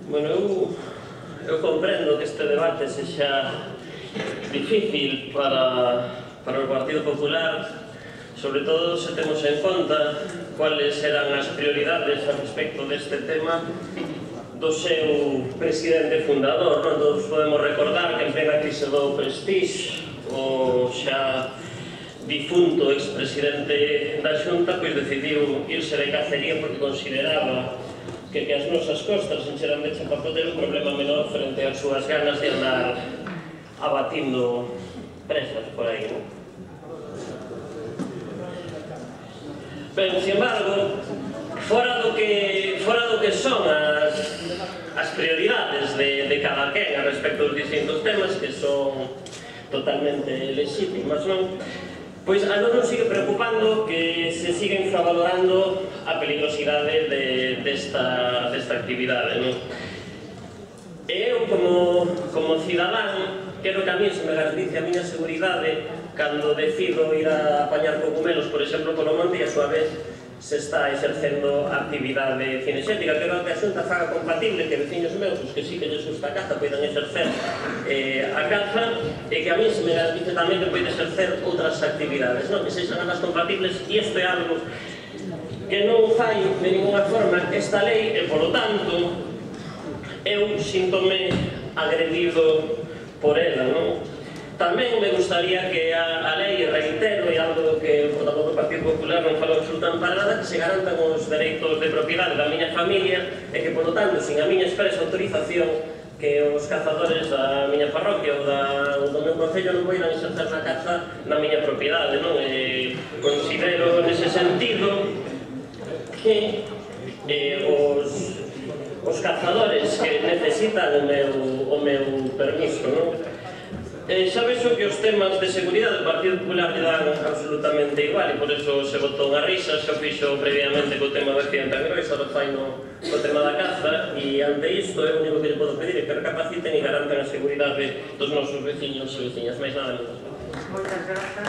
Bueno, eu comprendo que este debate sexa difícil para o Partido Popular, sobre todo se temos en conta cuáles eran as prioridades a respecto deste tema do seu presidente fundador. Todos podemos recordar que en plena crise do Prestige, o xa difunto expresidente da Xunta decidiu irse de cacería porque consideraba que as nosas costas encheran de chapapote era un problema menor frente ás súas ganas de andar abatindo presas por aí, non? Ben, sin embargo, fora do que son as prioridades de cada quen a respecto dos distintos temas, que son totalmente legítimas, non? Pois a nós nos sigue preocupando que se siga infravalorando a peligrosidade desta actividade, non? E eu, como cidadán, quero que a mí se me garantice a miña seguridade cando decido ir a apañar cogumelos, por exemplo, polo monte, e a súa vez se está exercendo actividade cinexética. Quero que a Xunta faga compatible que veciños meus, os que sí que lles gusta a caza, poidan exercer a caza, e que a mí se me garantice tamén que poida exercer outras actividades, non? Que sexan ambas compatibles, e isto é algo que non fai de ninguna forma esta lei, e polo tanto eu síntome agredido por ela, non? Tamén me gustaría que a lei, reitero, e algo que o portavoz do Partido Popular non falou absolutamente para nada, que se garantan os dereitos de propiedade da miña familia e que, polo tanto, sin a miña expresa autorización, que os cazadores da miña parroquia ou do meu concello non poidan exercer na caza na miña propiedade, non? Considero, nese sentido, que os cazadores que necesitan o meu permiso, non? Xa vexo que os temas de seguridade do Partido Popular lle dan absolutamente igual, e por eso se botou unha risa, xa fixo previamente co tema da accidente groisa, ahora fai no tema da caza, e ante isto é o único que lle podo pedir é que recapaciten e garanten a seguridade dos nosos veciños e veciñas. Mais nada, moitas grazas.